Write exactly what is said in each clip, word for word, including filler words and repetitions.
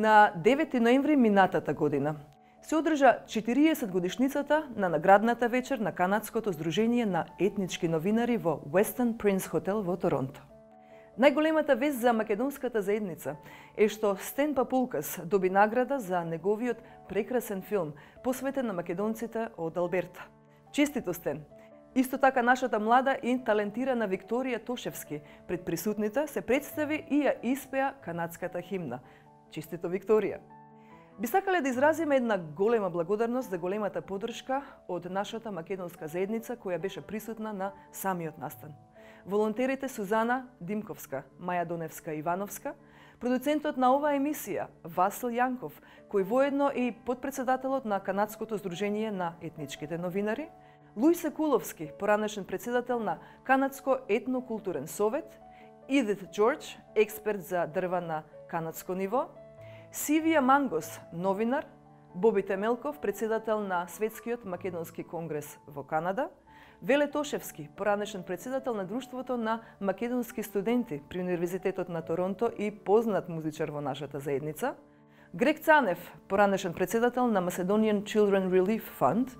На девети ноември минатата година се одржа четириесет годишницата на наградната вечер на канадското здружение на етнички новинари во Westin Prince Хотел во Торонто. Најголемата вест за македонската заедница е што Стен Папулкас доби награда за неговиот прекрасен филм посветен на македонците од Алберта. Честито, Стен! Исто така нашата млада и талентирана Викторија Тошевски пред присутните се представи и ја испеа канадската химна. Честито, Викторија! Би сакале да изразиме една голема благодарност за големата поддршка од нашата македонска заедница која беше присутна на самиот настан. Волонтерите Сузана Димковска, Маја Доневска Ивановска, продуцентот на оваа емисија Васил Јанков, кој воедно е и подпредседателот на Канадското здружение на етничките новинари, Лујсе Куловски, поранешен председател на Канадско етнокултурен совет, Идит Џорџ, експерт за дрва на канадско ниво, Сивија Мангос, новинар, Боби Темелков, председател на Светскиот македонски конгрес во Канада, Веле Тошевски, поранешен председател на Друштвото на македонски студенти при Универзитетот на Торонто и познат музичар во нашата заедница, Грег Цанев, поранешен председател на Macedonian Children Relief Fund,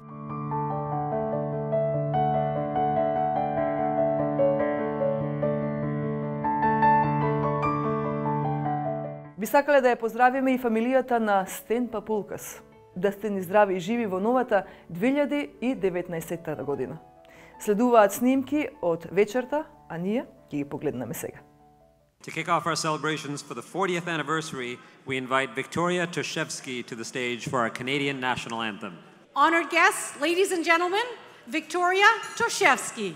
би сакале да ја поздравиме и фамилијата на Стен Папулкас, да сте ни здрави и живи во новата две илјади и деветнаесетта година. Следуваат снимки од вечерта, а ние ќе ги погледнеме сега. To kick off our celebrations for the fortieth anniversary, we invite Victoria Toshevsky to the stage for our Canadian national anthem. Honored guests, ladies and gentlemen, Victoria Toshevsky.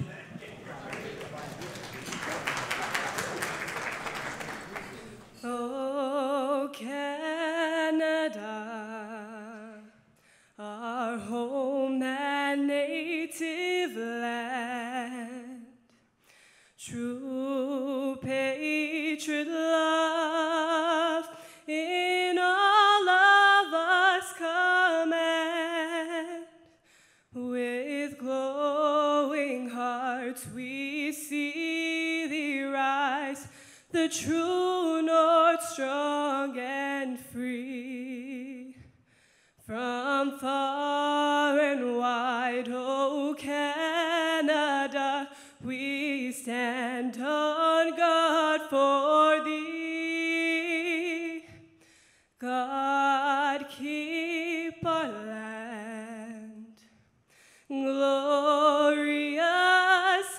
Oh, Canada, our home and native land, true patriot love in all of us command. With glowing hearts we see thee rise, the true north strong and free. From far and wide, oh Canada, we stand on guard for thee. God keep our land glorious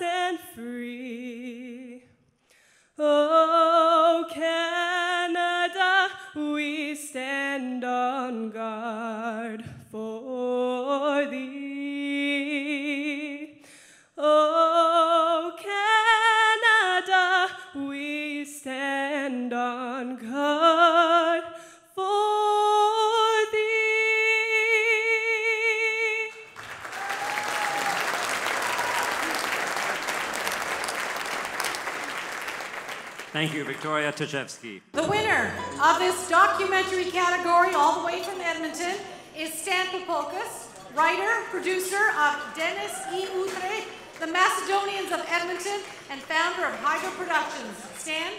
and free. Oh, Canada, we stand on guard for thee. Oh, Canada, we stand on guard for thee. Thank you, Victoria Toshevsky. The winner of this documentary category, all the way from Edmonton, is Stan Papulkis, writer, producer of Dennis E. Utrecht, the Macedonians of Edmonton, and founder of Hydro Productions. Stan?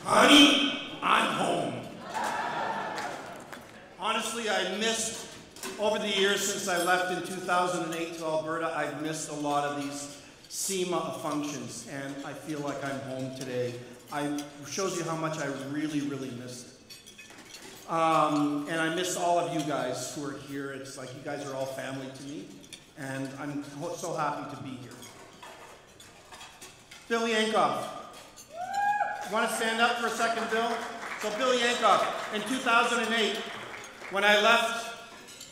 Honey, I'm home. Honestly, I missed, over the years since I left in two thousand eight to Alberta, I've missed a lot of these SEMA functions, and I feel like I'm home today. I shows you how much I really, really missed it. Um, and I miss all of you guys who are here. It's like you guys are all family to me, and I'm so happy to be here. Bill Yankoff. Want to stand up for a second, Bill? So Bill Yankoff, in two thousand eight, when I left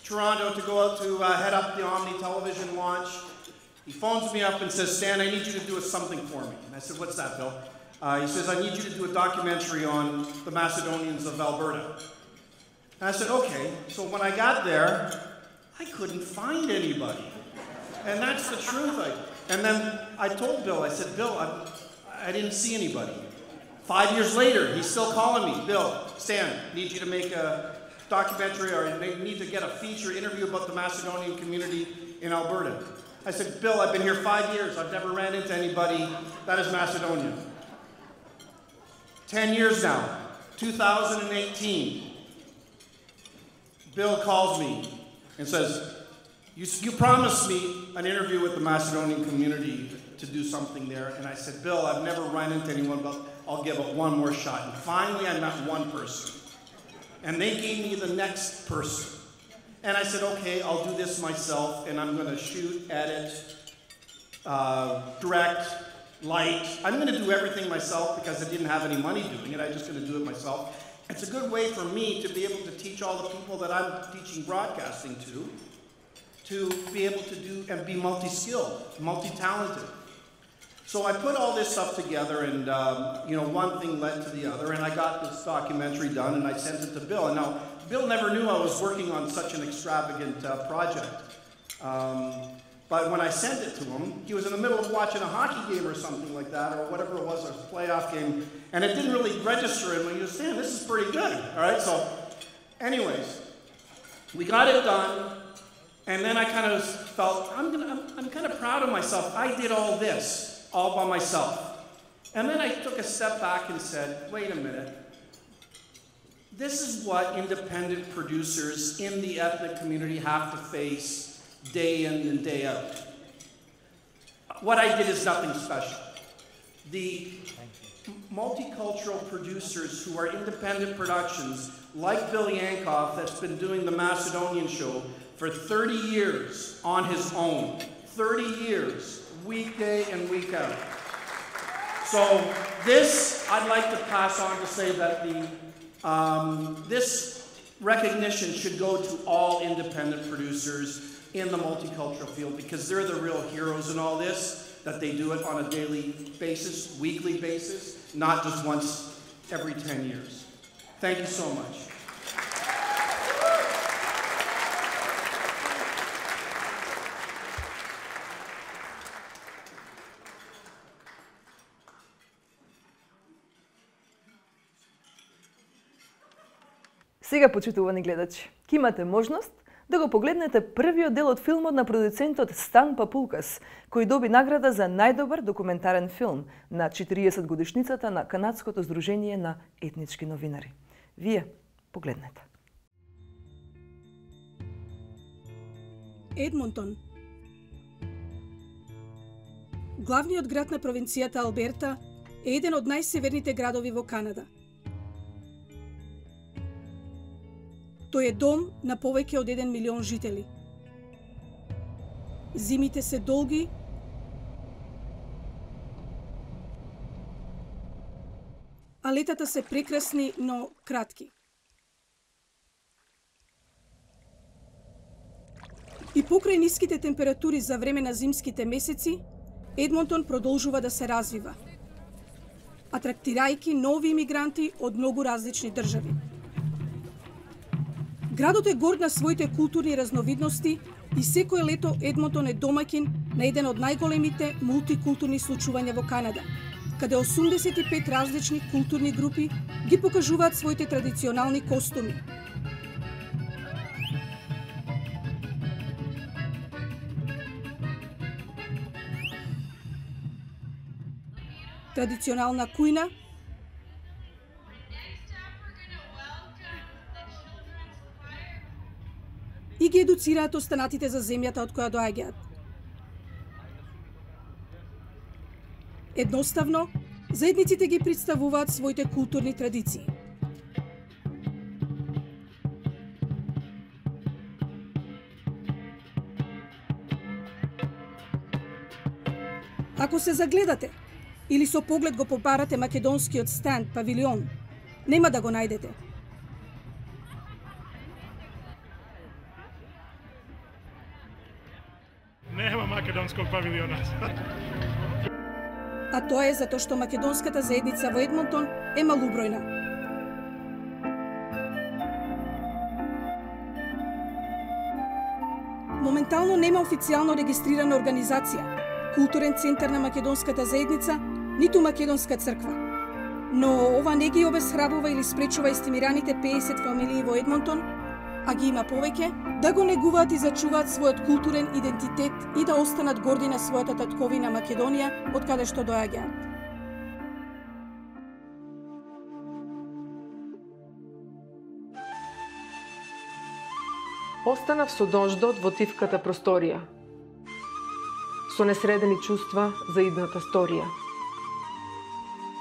Toronto to go out to uh, head up the Omni television launch, he phones me up and says, Stan, I need you to do something for me. And I said, what's that, Bill? Uh, he says, I need you to do a documentary on the Macedonians of Alberta. And I said, okay. So when I got there, I couldn't find anybody. And that's the truth. I, and then I told Bill, I said, Bill, I, I didn't see anybody. Five years later, he's still calling me. Bill, Stan, need you to make a documentary or need to get a feature interview about the Macedonian community in Alberta. I said, Bill, I've been here five years. I've never ran into anybody that is Macedonian. Ten years now, two thousand eighteen. Bill calls me and says, you, you promised me an interview with the Macedonian community to do something there. And I said, Bill, I've never run into anyone, but I'll give it one more shot. And finally, I met one person. And they gave me the next person. And I said, okay, I'll do this myself, and I'm going to shoot, edit, uh, direct, light. I'm going to do everything myself because I didn't have any money doing it. I'm just going to do it myself. It's a good way for me to be able to teach all the people that I'm teaching broadcasting to, to be able to do and be multi-skilled, multi-talented. So I put all this stuff together, and um, you know, one thing led to the other, and I got this documentary done, and I sent it to Bill. And now, Bill never knew I was working on such an extravagant uh, project. Um, but when I sent it to him, he was in the middle of watching a hockey game or something like that, or whatever it was, a playoff game, and it didn't really register him. He was saying, this is pretty good, all right? So anyways, we got it done, and then I kind of felt, I'm, gonna, I'm, I'm kind of proud of myself. I did all this all by myself. And then I took a step back and said, wait a minute. This is what independent producers in the ethnic community have to face day in and day out. What I did is nothing special. The multicultural producers who are independent productions, like Bill Yankoff, that's been doing the Macedonian show for thirty years on his own. thirty years, weekday and week out. So this, I'd like to pass on to say that the um, this recognition should go to all independent producers in the multicultural field, because they're the real heroes in all this, that they do it on a daily basis, weekly basis, not just once every ten years. Thank you so much. Сега, почитувани гледачи, ќе имате можност да го погледнете првиот дел од филмот на продуцентот Стан Папулкас, кој доби награда за најдобар документарен филм на четириесет годишницата на Канадското здружение на етнички новинари. Вие погледнете. Едмонтон. Главниот град на провинцијата Алберта е еден од најсеверните градови во Канада. Тој е дом на повеќе од еден милион жители. Зимите се долги, а летата се прекрасни, но кратки. И покрај ниските температури за време на зимските месеци, Едмонтон продолжува да се развива, атрактирајќи нови имигранти од многу различни држави. Градот е горд на своите културни разновидности и секое лето Едмонтон е домаќин на еден од најголемите мултикултурни случувања во Канада, каде осумдесет и пет различни културни групи ги покажуваат своите традиционални костуми. Традиционална кујна, и ги едуцираат останатите за земјата од која доаѓаат. Едноставно, заедниците ги представуваат своите културни традиции. Ако се загледате или со поглед го побарате македонскиот стенд павилион, нема да го најдете. Нема македонског павилиона. А тоа е затоа што македонската заедница во Едмонтон е малубројна. Моментално нема официјално регистрирана организација, културен центар на македонската заедница, ниту македонска црква. Но ова не ги обесхрабрува или спречува естимираните пеесет фамилии во Едмонтон, а ги има повеќе, да го негуваат и зачуваат својот културен идентитет и да останат горди на својата татковина Македонија, од каде што доаѓаат. Останав со дождот во тивката просторија, со несредени чувства за идната сторија.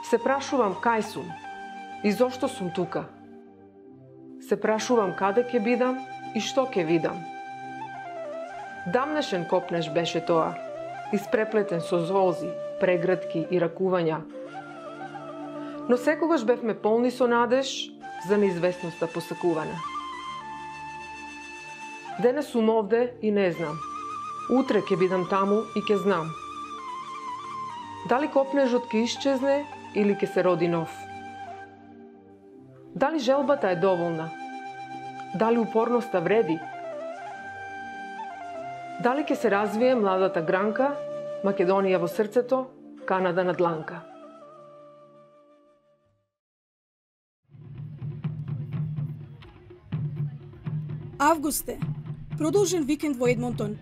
Се прашувам кај сум и зошто сум тука. Се прашувам каде ќе бидам и што ќе видам. Дамнешен копнеш беше тоа, испреплетен со золзи, прегратки и ракувања. Но секогаш бевме полни со надеж за неизвестноста посакувана. Денес сум овде и не знам. Утре ќе бидам таму и ќе знам. Дали копнежот ќе исчезне или ќе се роди нов? Дали желбата е доволна? Дали упорноста вреди? Дали ќе се развие младата гранка, Македонија во срцето, Канада на дланка? Август е. Продолжен викенд во Едмонтон.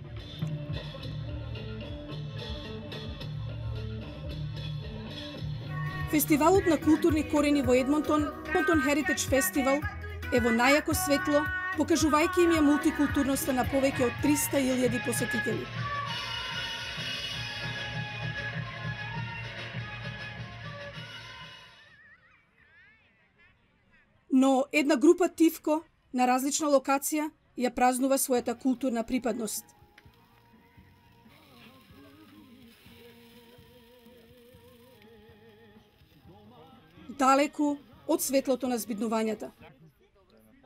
Фестивалот на културни корени во Едмонтон, Edmonton Heritage Festival, е во најако светло, покажувајќи им ја мултикултурноста на повеќе од триста илјади посетители. Но една група тивко на различна локација ја празнува својата културна припадност. Далеку од светлото на збиднувањата.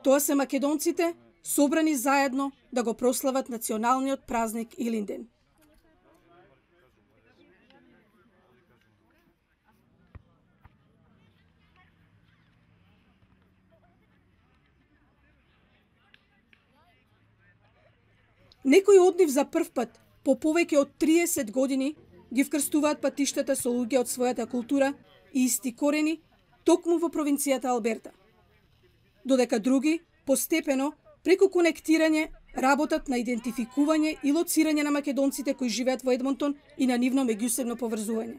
Тоа се македонците, собрани заедно да го прослават националниот празник Илинден. Некои од нив за прв пат, по повеќе од триесет години, ги вкрстуваат патиштата со луѓе од својата култура и исти корени, токму во провинцијата Алберта. Додека други, постепено, преку конектирање, работат на идентификување и лоцирање на македонците кои живеат во Едмонтон и на нивно меѓусебно поврзување.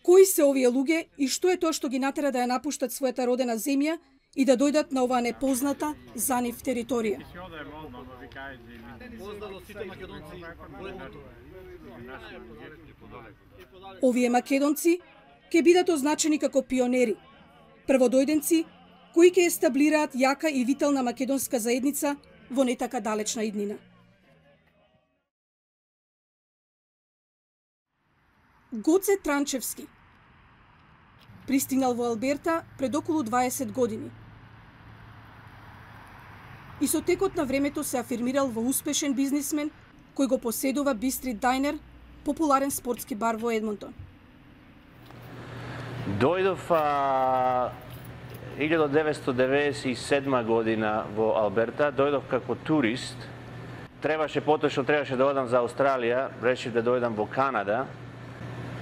Кои се овие луѓе и што е тоа што ги натера да ја напуштат својата родена земја и да дојдат на оваа непозната за нив територија? Овие македонци ќе бидат означени како пионери, прводојденци кои ќе естаблираат јака и витална македонска заедница во не така далечна иднина. Гоце Транчевски пристигнал во Алберта пред околу дваесет години. И со текот на времето се афирмирал во успешен бизнисмен кој го поседува Бистрит Дайнер, популарен спортски бар во Едмонтон. Дојдов а, илјадум деветстотини деветдесет и седма година во Алберта, дојдов како турист. Требаше поточно, требаше да одам за Австралија, решив да дојдам во Канада.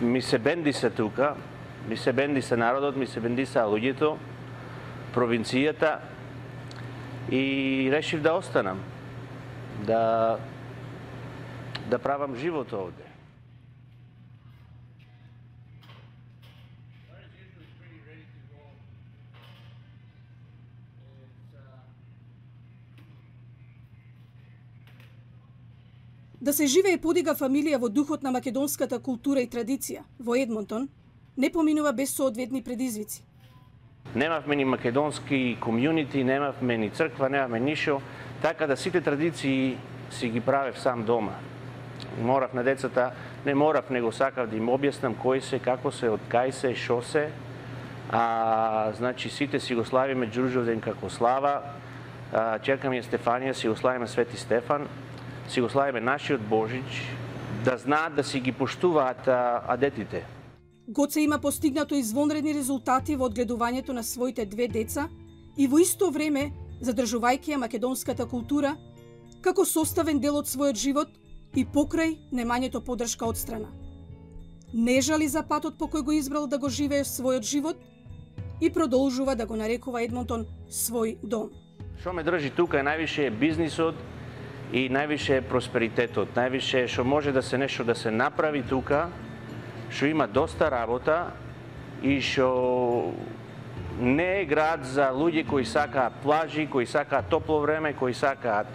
Ми се бенди се тука, ми се бенди се народот, ми се бенди се луѓето, провинцијата и решив да останам, да да правам живот овде. Да се живее и подига фамилија во духот на македонската култура и традиција во Едмонтон не поминува без соодветни предизвици. Немавме ни македонски комјунити, немавме ни црква, немавме ништо, така да сите традиции си ги правев сам дома. Морав на децата, не морав, него сакав да им објаснам кој се, како се, од кај се, шо се. А, значи, сите си го славиме Ѓурѓовден како слава, а, черка ми е Стефанија, си го славиме Свети Стефан, си го славиме нашиот Божич, да знаат да си ги поштуваат а, адетите. Гоце има постигнато извонредни резултати во одгледувањето на своите две деца и во исто време задржувајќи ја македонската култура како составен дел од својот живот и покрај немањето поддршка од страна. Не жали за патот по кој го избрал да го живее својот живот и продолжува да го нарекува Едмонтон свој дом. Што ме држи тука е највише бизнисот и највише просперитетот, највише што може да се нешто да се направи тука, што има доста работа и што не е град за луѓе кои сакаат плажи, кои сакаат топло време, кои сакаат.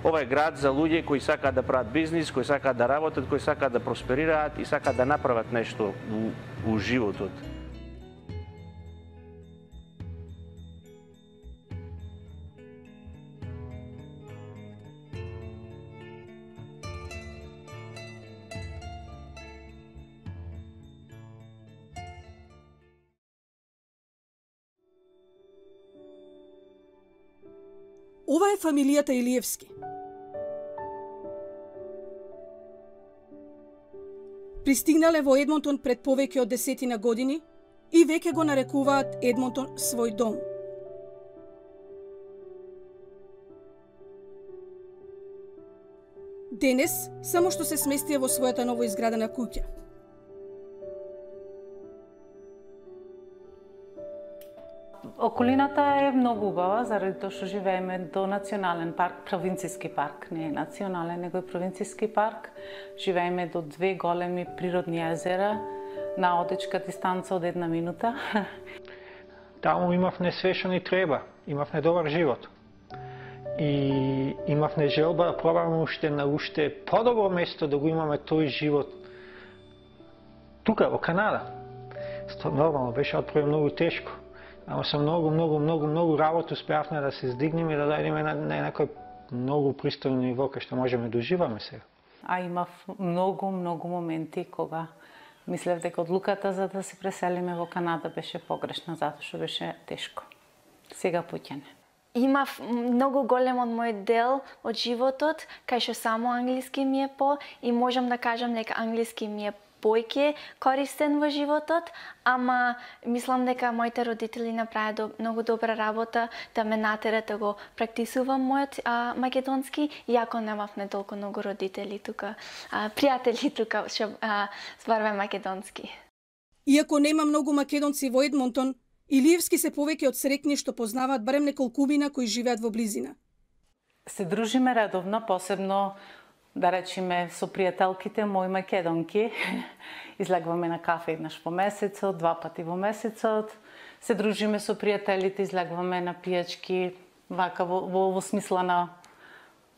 Ова е град за луѓе кои сакаат да прават бизнис, кои сакаат да работат, кои сакаат да просперираат и сакаат да направат нешто у, у животот. Ова е фамилијата Илиевски. Пристигнале во Едмонтон пред повеќе од десетина години и веќе го нарекуваат Едмонтон свој дом. Денес само што се сместија во својата новоизградена куќа. Околината е многу убава, заради тоа што живееме до национален парк, провинцијски парк, не е национален, него е провинцијски парк. Живееме до две големи природни езера на одечка дистанца од една минута. Таму имавме све што ни треба, имавме добар живот. И имавме желба да пробаме уште на уште подобро место да го имаме тој живот тука во Канада. Што нормално беше отпрво многу тешко. Ама со многу, многу, многу, многу работа успеавме да се здигнеме и да дојдеме на, на некој многу пристојно ниво кај што можеме да уживаме сега. А имав многу, многу моменти кога мислев дека одлуката за да се преселиме во Канада беше погрешна, затоа што беше тешко. Сега пуќане. Имав многу голем од мој дел од животот, кај што само англиски ми е по и можам да кажам дека англиски ми е појќе користен во животот, ама мислам дека моите родители направи до, многу добра работа да ме натерат да го практисувам мојот а, македонски, иако немавме толку многу родители тука, а, пријатели тука што зборуваме македонски. Иако нема многу македонци во Едмонтон, Илиевски се повеќе од срекни што познаваат барем неколкумина кои живеат во близина. Се дружиме редовно, посебно да речеме со пријателките мои македонки. Излегваме на кафе еднаш по месецот, два пати во месецот. Се дружиме со пријателите, излегваме на пијачки, вака во, во, во смисла на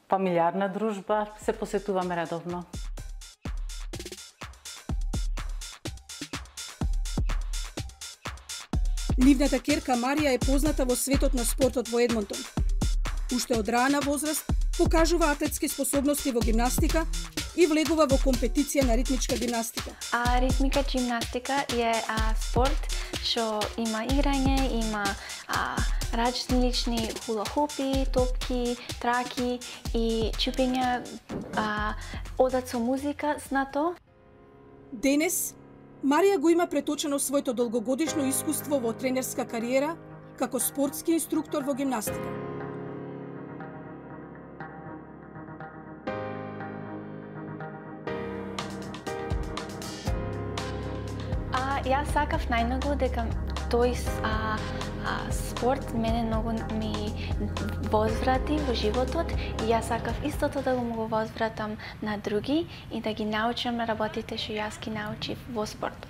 фамилиарна дружба, се посетуваме редовно. Нивната керка Марија е позната во светот на спортот во Едмонтон. Уште од рана возраст покажува атлетски способности во гимнастика и влегува во компетиција на ритмичка гимнастика. А ритмика гимнастика е а, спорт што има играње, има а, различни хула-хупи, топки, траки и чупење а, одат со музика знато. Денес Марија го има преточено своето долгогодишно искуство во тренерска кариера како спортски инструктор во гимнастика. А, јас сакав најмногу дека тој а, а, спорт мене многу ми возврати во животот и јас сакав истото да го возвратам на други и да ги научам работите што јас ги научив во спортот.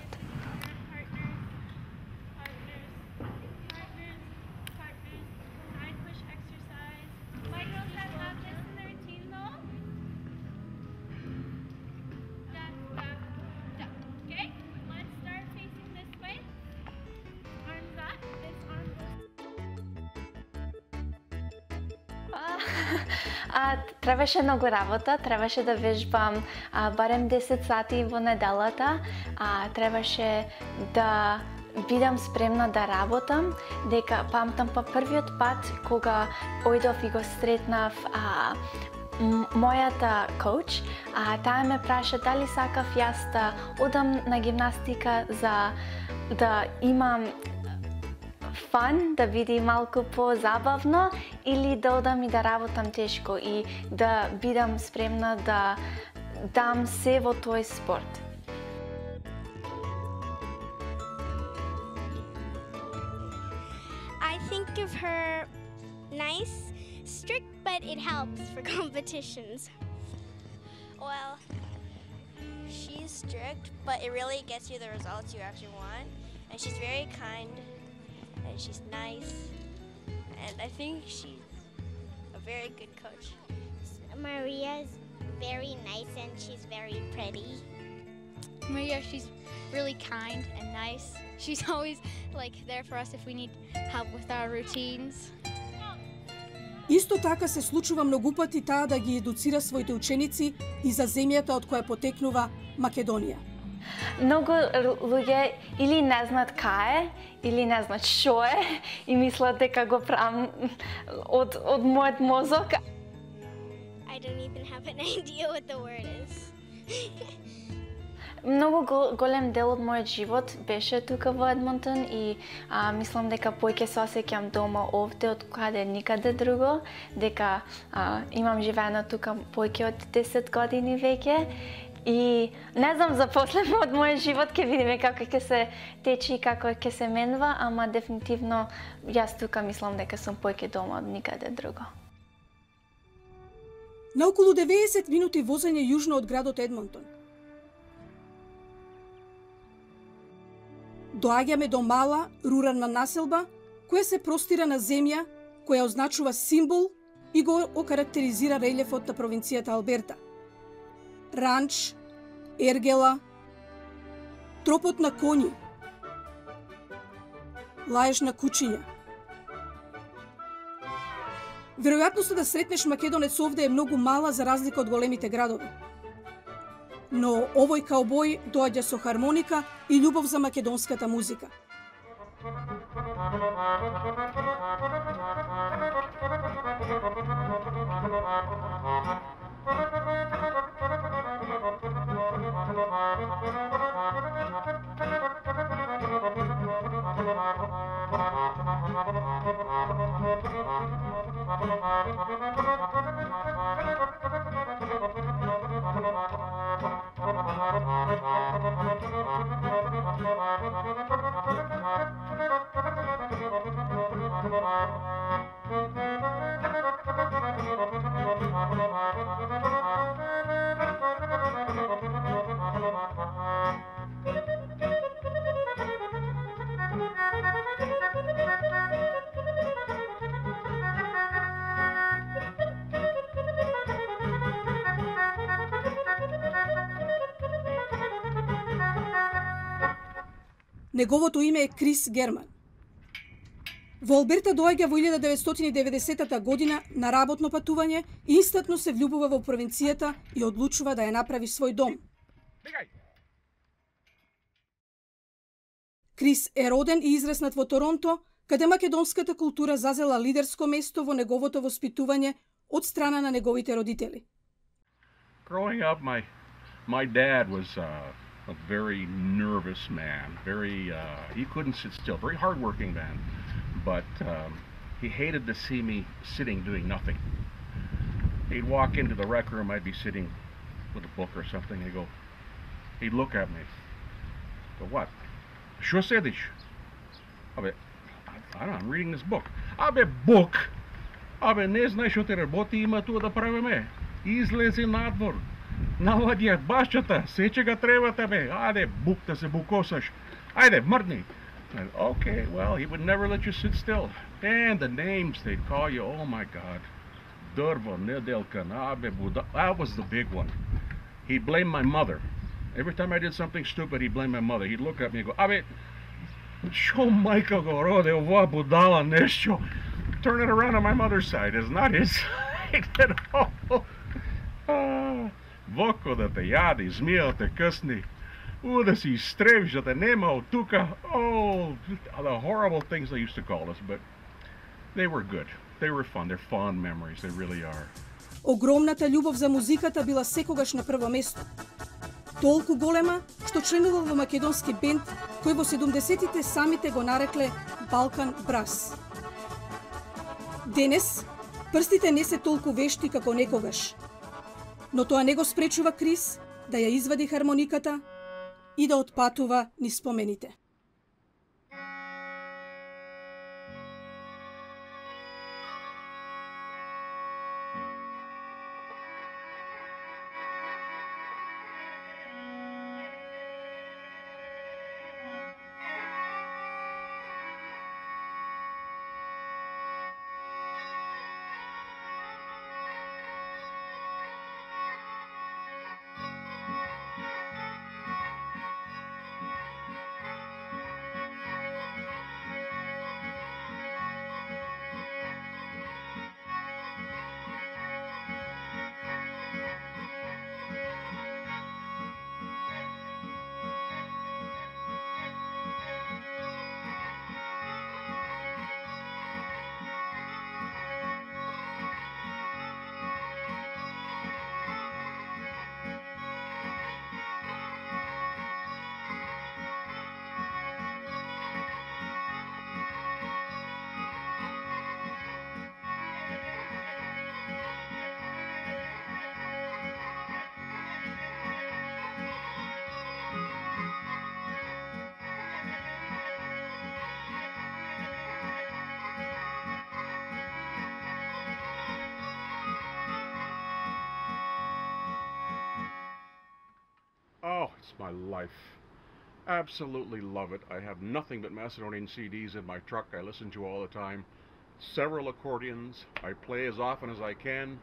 А, требаше многу работа, требаше да вежбам а, барем десет сати во неделата, а, требаше да бидам спремна да работам, дека памтам па првиот пат кога ојдов и го сретнав а, мојата коуч, а таа ме праша дали сакав јас да одам на гимнастика за да имам фан, да биде малку по-забавно или да одам и да работам тешко и да бидам спремна да дам се во тој спорт. think of her nice, strict, but it helps for competitions. Well, she's strict, but it really gets you the results you actually want. And she's very kind, and she's nice, and I think she's a very good coach. Maria's very nice and she's very pretty. Maria, she's really kind and nice. She's always like there for us if we need help with our routines. Исто така се случува многу пати таа да ги едуцира своите ученици и за земјата од која потекнува Македонија. Многу луѓе или не знаат кај е, или не знаат што е и мислат дека го правам од од мојот мозок. I don't even have an idea what the word is. Многу голем дел од мојот живот беше тука во Едмонтон и а, мислам дека поќе се осеќам дома овде од каде никаде друго, дека а, имам живеено тука поќе од десет години веќе и не знам за после од мојот живот ќе видиме како ќе се тече и како ќе се менува, ама дефинитивно јас тука мислам дека сум поќе дома од никаде друго. На околу деветдесет минути возење јужно од градот Едмонтон доаѓаме до мала, рурална населба, која се простира на земја, која означува символ и го окарактеризира релефот на провинцијата Алберта. Ранч, ергела, тропот на коњи, лаеж на кучиња. Веројатноста да сретнеш македонец овде е многу мала за разлика од големите градови. Но овој каубој доаѓа со хармоника и љубов за македонската музика. Неговото име е Крис Герман. Во Алберта доаѓа во илјада деветстотини и деветдесетата година на работно патување и инстантно се влюбува во провинцијата и одлучува да ја направи свој дом. Крис е роден и израснат во Торонто, каде македонската култура зазела лидерско место во неговото воспитување од страна на неговите родители. Growing up, my my dad was uh... a very nervous man, very, uh, he couldn't sit still, very hardworking man, but um, he hated to see me sitting doing nothing. He'd walk into the rec room, I'd be sitting with a book or something, he'd go, he'd look at me, go, what? Što sediš? Abe, I don't know, I'm reading this book. Abe, book? Abe, ne знаеш што те работи има туа да правиме. Излези надвор. Наладија башчата, сече га треба тебе. Ајде, бук да се букосаш. Ајде, мрдни. Okay, well, he would never let you sit still. And the names they'd call you, oh my God. Drvo, Nedelka, Nabe, Buda. That was the big one. He'd blame my mother. Every time I did something stupid, he'd blame my mother. He'd look at me and go, Abe, šo majka go rode, ova budala nešto. Turn it around on my mother's side. It's not his side at all. Ah. Воко да те јади, змија те късни, у да си изтребиш, да те нема од тука. Oh, the horrible things they used to call us, but they were good. They were fun. They're fond memories. They really are. Огромната љубов за музиката била секогаш на прво место. Толку голема, што членувал во македонски бенд, кој во седумдесетите самите го нарекле Балкан Брас. Денес, прстите не се толку вешти како некогаш. Но тоа не го спречува Крис да ја извади хармониката и да отпатува низ спомените. It's my life. Absolutely love it. I have nothing but Macedonian C Ds in my truck I listen to all the time. Several accordions. I play as often as I can.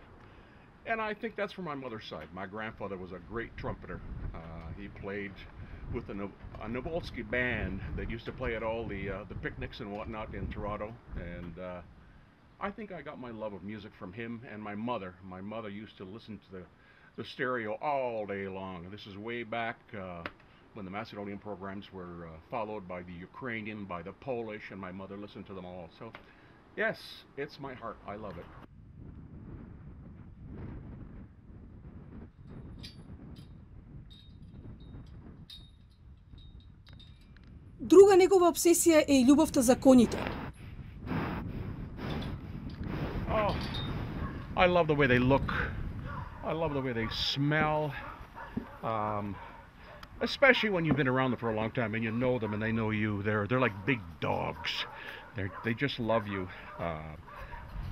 And I think that's from my mother's side. My grandfather was a great trumpeter. Uh, he played with a, no a Novolsky band that used to play at all the, uh, the picnics and whatnot in Toronto. And uh, I think I got my love of music from him and my mother. My mother used to listen to the, the stereo all day long. This is way back uh, when the Macedonian programs were uh, followed by the Ukrainian, by the Polish, and my mother listened to them all. So, yes, it's my heart. I love it. Друга негова обсесија е и љубовта за коњите. Oh, I love the way they look. I love the way they smell. Um, especially when you've been around them for a long time and you know them and they know you. They're they're like big dogs. They they just love you. Uh,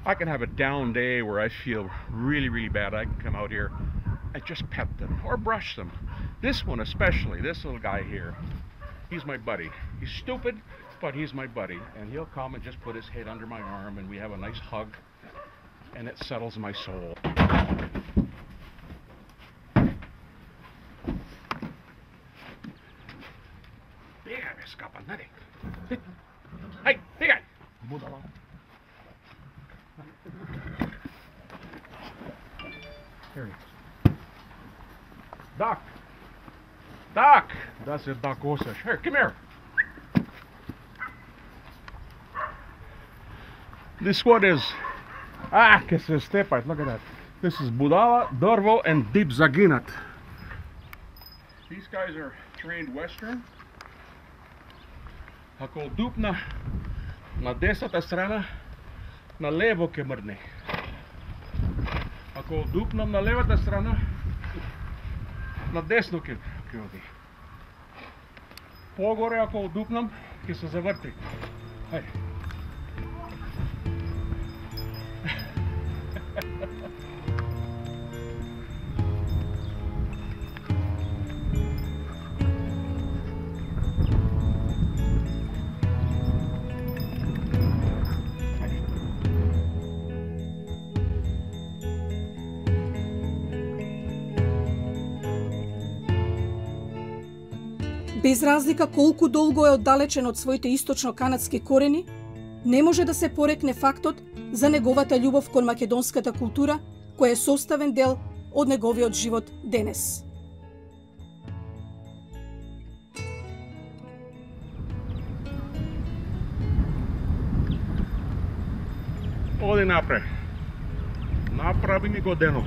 I can have a down day where I feel really really bad. I can come out here and just pet them or brush them. This one especially, this little guy here, he's my buddy. He's stupid, but he's my buddy. And he'll come and just put his head under my arm and we have a nice hug. And it settles my soul. Bigaj me skapa, nadi. Hej, bigaj! Budala. Here he is. Duck! Duck! That's it, Duck Osage. Here, come here. This one is... Ah, que se stepaj, look at that. This is Budala, Dorvo, and Deep Zaginat. These guys are trained Western. Ако дупна на десната страна, на лево ке мрдне. Ако дупнам на левата страна, на десно ке оди. Погоре ако дупнам, ке се заврти. Хајде. Без разлика колку долго е оддалечен од своите источно-канадски корени, не може да се порекне фактот за неговата љубов кон македонската култура, која е составен дел од неговиот живот денес. Оди напред. Направи ми го дено.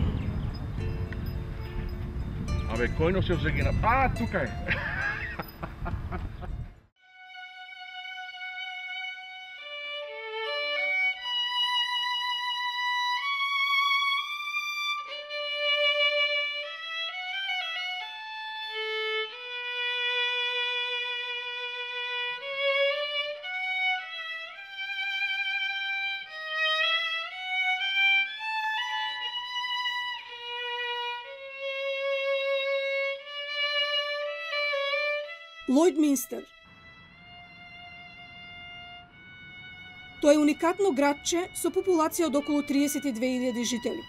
Абе, којно се загина? А, тука е. Lloydminster. Тоа е уникатно градче со популација од околу триесет и две илјади жители.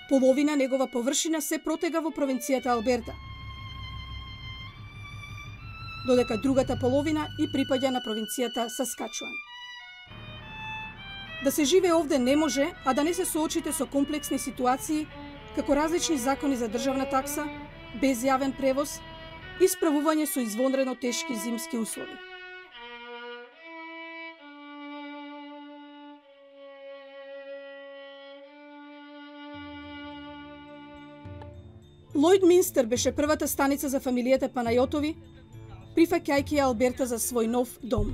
Половина негова површина се протега во провинцијата Алберта, додека другата половина и припаѓа на провинцијата Саскачуан. Да се живее овде не може, а да не се соочите со комплексни ситуации, како различни закони за државна такса, без јавен превоз и справување со извонредно тешки зимски услови. Lloydminster беше првата станица за фамилијата Панајотови, прифаќајќи ја Алберта за свој нов дом.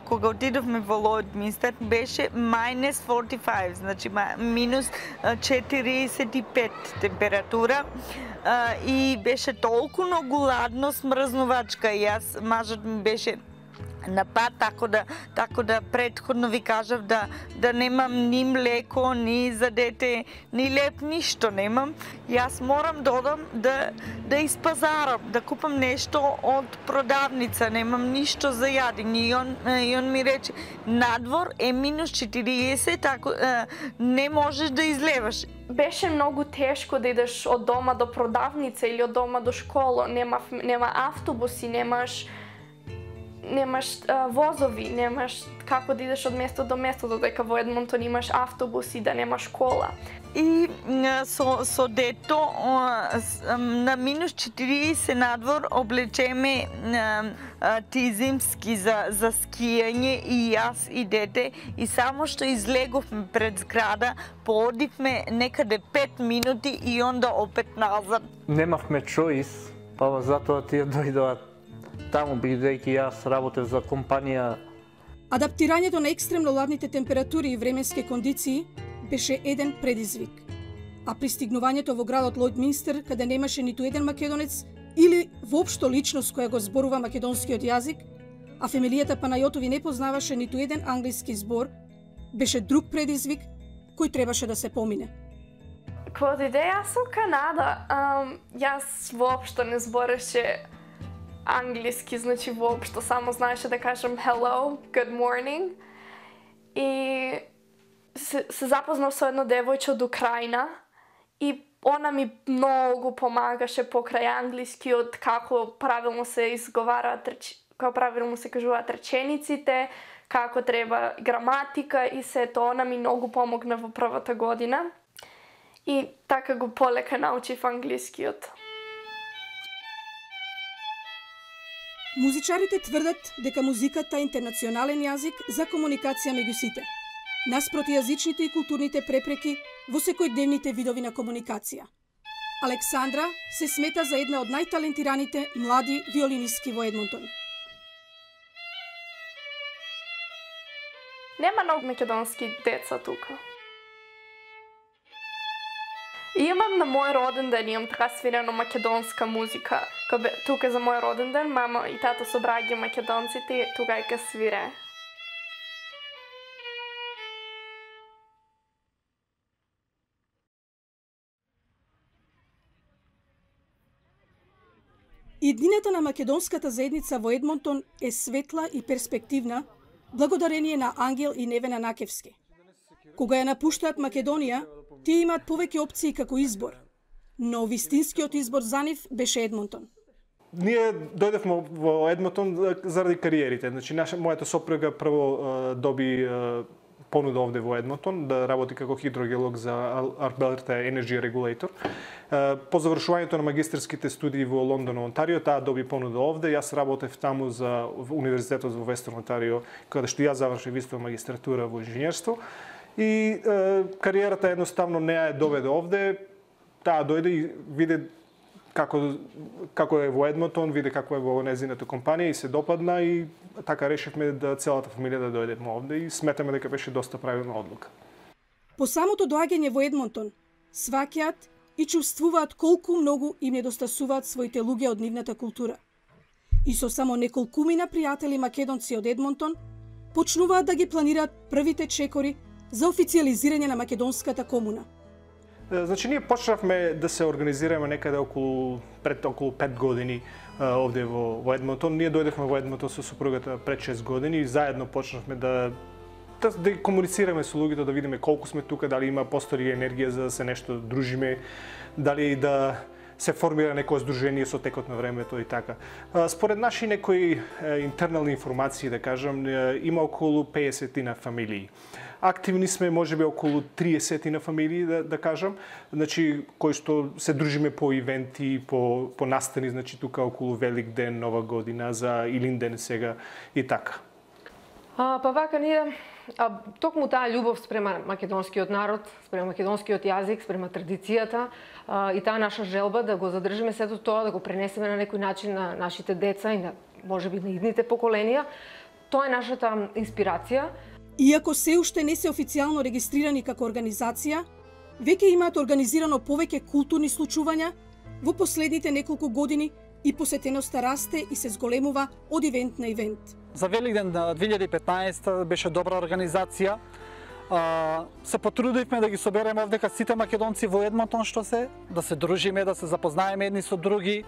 Кога отидовме во Lloydminster беше minus forty five, значи минус четириесет и пет температура и беше толку многу ладно, смрзнувачка и јас, мажот ми беше на пат, така да, така да предходно ви кажав да, да немам ни млеко, ни за дете, ни леп, ништо немам. Јас морам да одам да, да испазарам, да купам нешто од продавница, немам ништо за јадење. И он, и он ми рече, надвор е минус четириесет, ако не можеш да излеваш. Беше многу тешко да идеш од дома до продавница или од дома до школа. Нема, нема автобуси, немаш немаш а, возови, немаш како да идеш од место до место, додека во Едмонтон имаш автобуси, да нема школа. И со, со дето на минус четириесет надвор облечеме ти зимски за, за скијање и јас и дете, и само што излеговме пред зграда, поодивме некаде пет минути и онда опет назад. Немавме чоис, па затоа тие дојдоа таму, бидејќи јас работев за компанија. Адаптирањето на екстремно ладните температури и временски кондиции беше еден предизвик. А пристигнувањето во градот Лојдминстер, каде немаше ниту еден македонец или воопшто личност која го зборува македонскиот јазик, а фамилијата Панајотови не познаваше ниту еден англиски збор, беше друг предизвик кој требаше да се помине. Кога дојде јас во Канада, ам, јас воопшто не збореше англиски, значи воопшто само знаеше да кажам hello, good morning. И се, се запознав со едно девојче од Украина и она ми многу помагаше покрај англискиот, како правилно се изговараат, како правилно се кажуваат речениците, како треба граматика и сето. Она ми многу помогна во првата година. И така го полека научив англискиот. Музичарите тврдат дека музиката е интернационален јазик за комуникација меѓу сите, наспроти јазичните и културните препреки во секојдневните видови на комуникација. Александра се смета за една од најталентираните млади виолинистки во Едмонтон. Нема многу македонски деца тука. И имам на мој роден ден, имам така свирено македонска музика. Кога тука за мој роден ден, мама и тато собраѓа македонците и тука ќе свире. Иднината на македонската заедница во Едмонтон е светла и перспективна благодарение на Ангел и Невена Накевски. Кога ја напуштаат Македонија, тие имаат повеќе опции како избор, но вистинскиот избор за нив беше Едмонтон. Ние дојдевме во Едмонтон заради кариерите. Значи, наша, мојата сопруга прво доби понуда овде во Едмонтон да работи како хидрогеолог за Alberta Energy Regulator. По завршувањето на магистерските студии во Лондон, Онтарио, таа доби понуда овде. Јас работев таму за универзитетот во Вестерн Онтарио, каде што јас завршив исто магистратура во инженерство. И е, кариерата едноставно не ја доведе овде. Таа дојде и виде како, како е во Едмонтон, виде како е во незината компанија и се допадна и така решивме да целата фамилија да дојдеме овде и сметаме дека беше доста правилна одлука. По самото доаѓање во Едмонтон, сваќаат и чувствуваат колку многу им недостасуваат своите луѓе од нивната култура. И со само неколкумина пријатели македонци од Едмонтон, почнуваат да ги планираат првите чекори за официализирање на македонската комуна. Значи, ние почнавме да се организираме некаде околу, пред околу пет години овде во, во Едмонтон. Ние дојдевме во Едмонтон со супругата пред шест години и заедно почнавме да, да, да комуницираме со луѓето, да видиме колку сме тука, дали има постои енергија за да се нешто дружиме, дали да се формира некој здружение со текот на времето и така. Според наши некои интернални информации, да кажам, има околу педесет на фамилии. Активни сме можеби околу триесет на фамилии, да, да кажам, значи кои што се дружиме по ивенти, по по настани, значи тука околу Велик ден, Нова година, за Илинден сега и така. А, па вака ние а, токму таа љубов спрема македонскиот народ, спрема македонскиот јазик, спрема традицијата а, и таа наша желба да го задржиме сето тоа, да го пренесеме на некој начин на нашите деца и на можеби на идните поколенија, тоа е нашата инспирација. Иако се уште не се официјално регистрирани како организација, веќе имаат организирано повеќе културни случувања во последните неколку години и посетеноста расте и се зголемува од ивент на ивент. за Великден две илјади и петнаесета беше добра организација. Се потрудивме да ги собереме овдека сите македонци во Едмонтон што се, да се дружиме, да се запознаеме едни со други,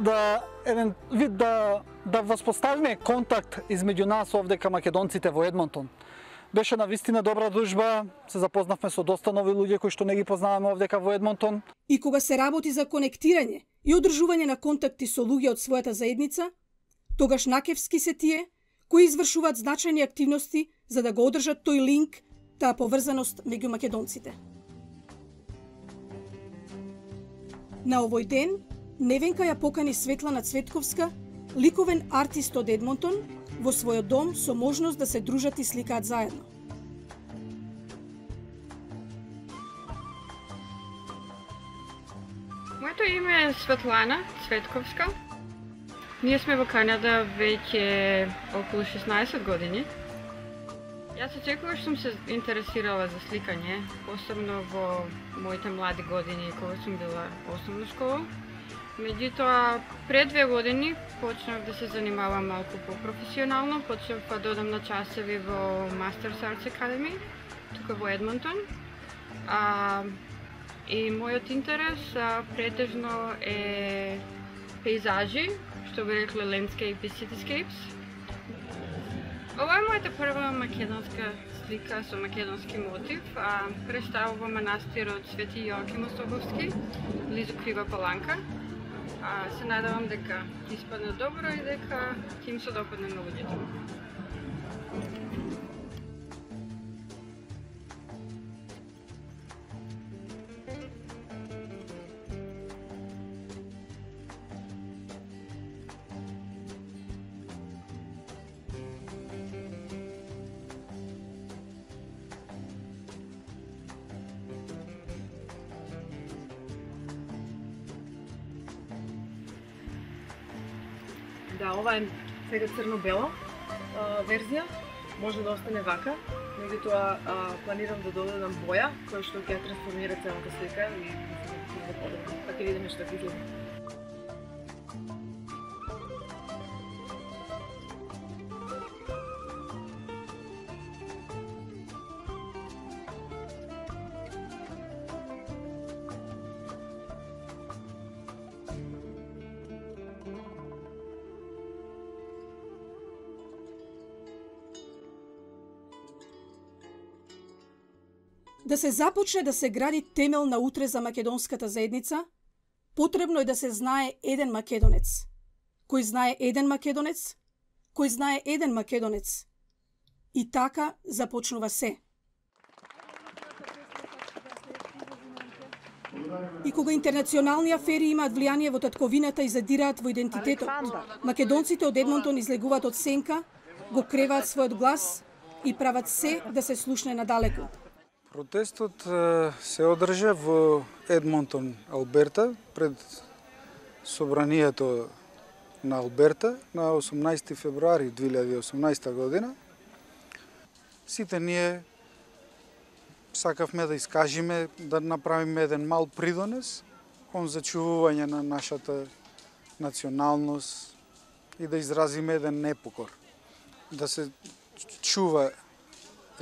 да еден вид да да воспоставиме контакт измеѓу нас овдека македонците во Едмонтон. Беше навистина добра дружба, се запознавме со доста нови луѓе кои што не ги познаваме овдека во Едмонтон. И кога се работи за конектирање и одржување на контакти со луѓе од својата заедница, тогаш накевски се тие кои извршуваат значајни активности за да го одржат тој линк, таа поврзаност меѓу македонците. На овој ден Невенка ја покани Светлана Цветковска, ликовен артист од Едмонтон, во својот дом со можност да се дружат и сликаат заедно. Моето име е Светлана Цветковска. Ние сме во Канада веќе околу шеснаесет години. Јас секогаш сум се интересирала за сликање, посебно во моите млади години кога сум била основна школа. Меѓутоа, пред две години почнав да се занимавам малку по-професионално, почнав да додам на часови во Masters Arts Academy, тука во Едмонтон. А, и мојот интерес а, претежно е пейзажи, што би рекле landscape и cityscapes. Ова е мојата прва македонска слика со македонски мотив. А, представува манастирот Свети Јоаким Особовски, близу Крива Паланка. А, се надевам дека ќе испадне добро и дека ќе им се допадне на луѓето. Да, ова е сега црно-бела верзија, може да остане вака, меѓутоа планирам да додадам боја, која што ќе трансформира целата слика и да подобро. Па ќе видиме што ќе изгледа. Да се започне да се гради темел на утре за македонската заедница, потребно е да се знае еден македонец. Кој знае еден македонец, кој знае еден македонец. И така започнува се. И кога интернационални афери имаат влијание во татковината и задираат во идентитетот, македонците од Едмонтон излегуваат од сенка, го креваат својот глас и прават се да се слушне надалеку. Протестот се одржа во Едмонтон, Алберта, пред собранието на Алберта на осумнаесети февруари две илјади и осумнаесета година. Сите ние сакавме да искажиме, да направиме еден мал придонес кон зачувување на нашата националност и да изразиме еден непокор. Да се чува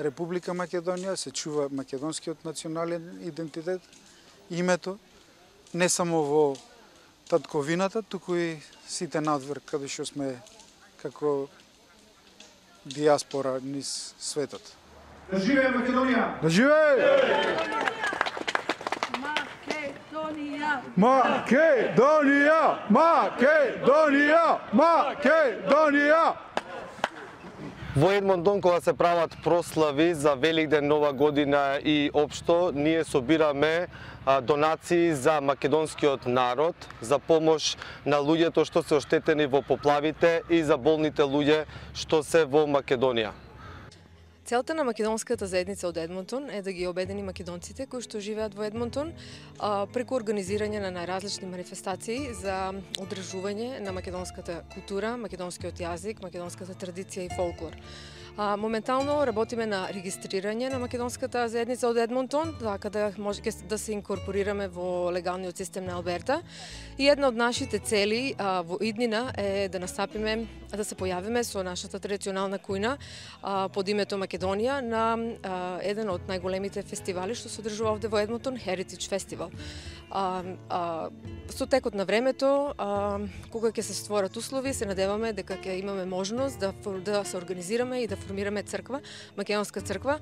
Република Македонија, се чува македонскиот национален идентитет, името, не само во татковината, туку и сите надвор, каде што сме како диаспора низ светот. Да живее Македонија! Да живее! Македонија! Македонија! Македонија! Македонија! Во Едмонтон, кога се прават прослави за Великден, Нова година и општо, ние собираме донации за македонскиот народ, за помош на луѓето што се оштетени во поплавите и за болните луѓе што се во Македонија. Целта на македонската заедница од Едмонтон е да ги обедини македонците кои што живеат во Едмонтон преку организирање на најразлични манифестации за одржување на македонската култура, македонскиот јазик, македонската традиција и фолклор. А, моментално работиме на регистрирање на македонската заедница од Едмонтон, така да може да се инкорпорираме во легалниот систем на Алберта. И една од нашите цели а, во иднина е да настапиме, да се појавиме со нашата традиционална кујна а, под името Македонија на а, еден од најголемите фестивали што се одржува овде во Едмонтон, Heritage Festival. А, а, со текот на времето, а, кога ќе се створат услови, се надеваме дека ќе имаме можност да, да се организираме и да формираме црква, македонска црква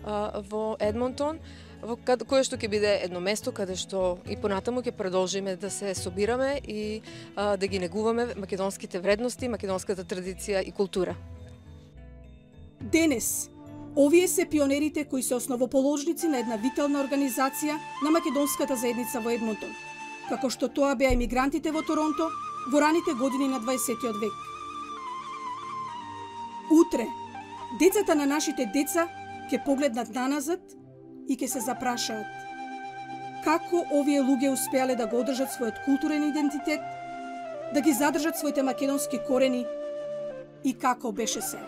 а, во Едмонтон, во кое што ќе биде едно место каде што и понатаму ќе продолжиме да се собираме и а, да ги негуваме македонските вредности, македонската традиција и култура. Денес, овие се пионерите кои се основоположници на една витална организација на македонската заедница во Едмонтон, како што тоа беа емигрантите во Торонто во раните години на дваесеттиот век. Утре, децата на нашите деца ќе погледнат наназад и ќе се запрашаат како овие луѓе успеале да го одржат својот културен идентитет, да ги задржат своите македонски корени и како беше се.